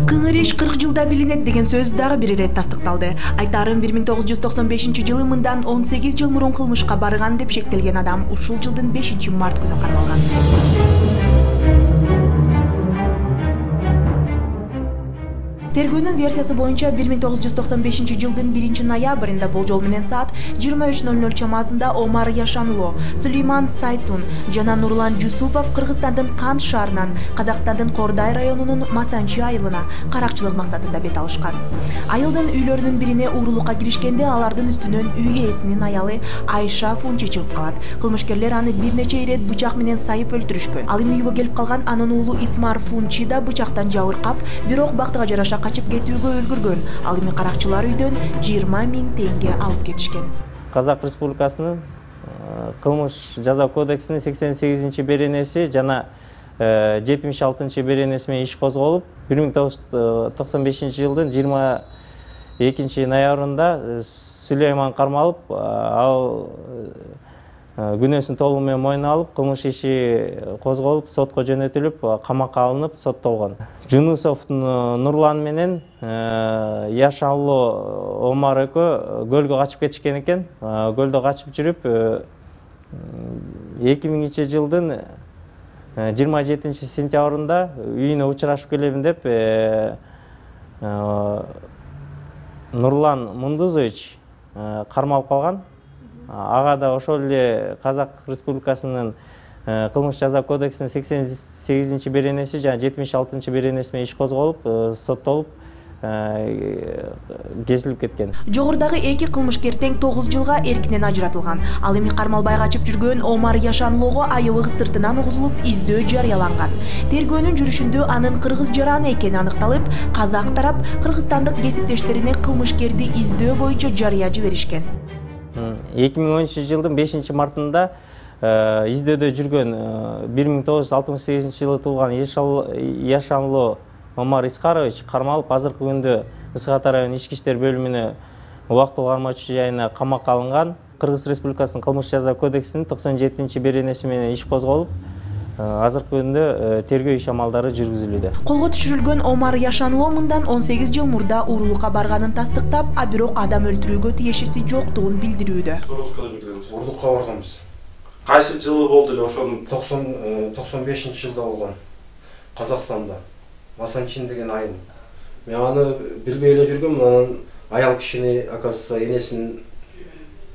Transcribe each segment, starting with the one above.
Кыңыр иш 40 жылда билинет деген сөз дагы бир ирет тастыкталды. Айтарым 1995-жылы мындан 18 жыл мурун кылмышка барган деп шектелген адам ушул жылдын 5-март күнү каралган. Тергөөнүн версиясы боюнча 1995-жылдын 1-ноябрында болжол менен саат 23:00 чамасында Омар Яшанло, Сулейман Сайтун жана Нурлан Жусупов Кыргызстандын Кант шаарынан Казакстандын Кордай районунун Масанчи айылына каракчылык максатында бет алышкан. Айылдын үйлөрүнүн бирине уурулукка киришкенде алардын үстүнөн үй ээсинин аялы Айша Фунчи чыгып калат. Кылмышкерлер аны бир нече ирет бычак менен сайып өлтүрүшкөн. Ал эми үйгө келип калган анын уулу Исмар Фунчи да бычактан жабыркап, бирок бактыга жараша качып кетүүгө өлгүргөн. Ал эми каракчылар үйдөн 20 000 теңге алып кетишкен. Казак Республикасынын кылмыш жаза кодексинин 88-беренеси жана 76-беренеси менен иш козголуп, 1995-жылдын 22-ноябрында Сулейман Кармалов ал күнөөсүн толугу менен мойнуна алып, кылмыш иши козголуп, сотко жөнөтүлүп, камакка алынып, соттолгон. Жунусов Нурлан менен Яшанло Омар экөө көлгө качып кетишкен экен. Көлдө качып жүрүп 2000-жылдын 27-сентябрында үйүнө учурашып келебин деп Нурлан Мундузович кармалып калган. Ага да ошол эле Казак Республикасынын кылмыш жаза кодексинин 88-беренеси жана 76-беренеси менен иш козголуп, соттолуп, кесилип кеткен. Жогорудагы эки кылмышкер тең 9 жылга эркинен ажыратылган. Ал эми кармалбай качып жүргөн Омар Яшанлого аябыгы сыртынан угузулуп, издөө жарыяланган. Тергөөнүн жүрүшүндө анын кыргыз жараны экени аныкталып, казак тарап кыргызстандык кесиптештерине кылмышкерди издөө боюнча жарыя жиберишкен. 2013-жылдын 5-мартында издөөдө жүргөн 1968-жылы туулган Яшанло Омар Искарович кармалып, азыркы күндө Ысык Ата району ички иштер бөлүмүнө убактылуу кармоочу жайына камакка алынган. Кыргыз Республикасынын кылмыш жаза кодексинин 97-беренеси менен иш козголуп, азыркы күндө тергөө иш амалдары жүргүзүлүүдө. Колго түшүрүлгөн Омар Яшанло мындан 18 жыл мурда уурулукка барганын тастыктап, а бирок адам өлтүрүүгө тиешеси жоктугун билдирүүдө. Уурулукка барганбыз. Кайсы жылы болду эле ошонун? 95-жылда болгон. Казакстанда. Масанчин деген айыл. Мен аны билбей эле жүргөм, анан аял кишини оказывается энеси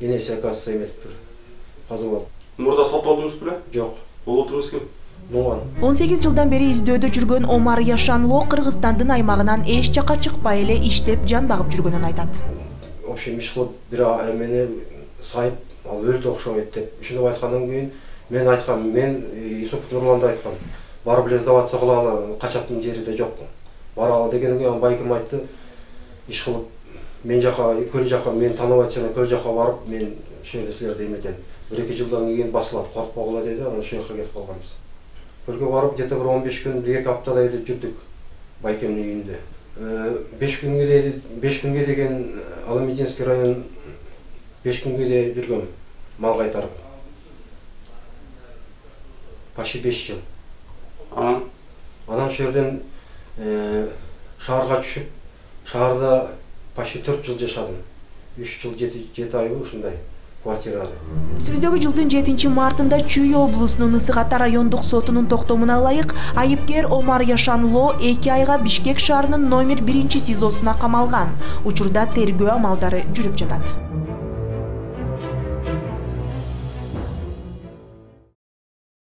оказывается эмесипир. Каза болуп. Мурда соттолдуңуз беле? Жок. Болотуңуз ким? 18 жылдан бери издөөдө жүргөн Омар Яшанло Кыргызстандын аймагынан эч жакка чыкпай эле иштеп, жан багып жүргөнүн айтат. В общем, иш кылып бир эмени сайып, ал өлдү окшойт деп. Ушундап айткандан кийин мен айткам, мен Исуп Нурланды айткам. Барып эле сдаваться кылалы, качатын жери да жок. Баралы дегенден кийин байкем айтты. Иш кылып мен жака, көл жака, мен тааныбайт жана көл жака барып, мен ошол эле силерди эметем. 1-2 жылдан кийин басылат, коркпогула деди, анан ошол жака кетип калганбыз. Көлгө барып, где-то bir 15 күн, 2 аптадай эле жүрдүк байкемдин үйүндө. 5 күнгө деген Аламединский район 5 күнгө де жүргөм, мал кайтарып. Почти 5 жыл. Анан ошол жерден шаарга түшүп, шаарда почти 4 жыл жашадым. 3 жыл 7 ай ушундай квартирада. Үстүбүздөгү жылдын 7-мартында Чүй облусунун Ысык Ата райондук сотунун токтомуна ылайык айыпкер Омар Яшанло 2 айга Бишкек шаарынын номер 1 СИЗОсуна камалган. Учурда тергөө амалдары жүрүп жатат.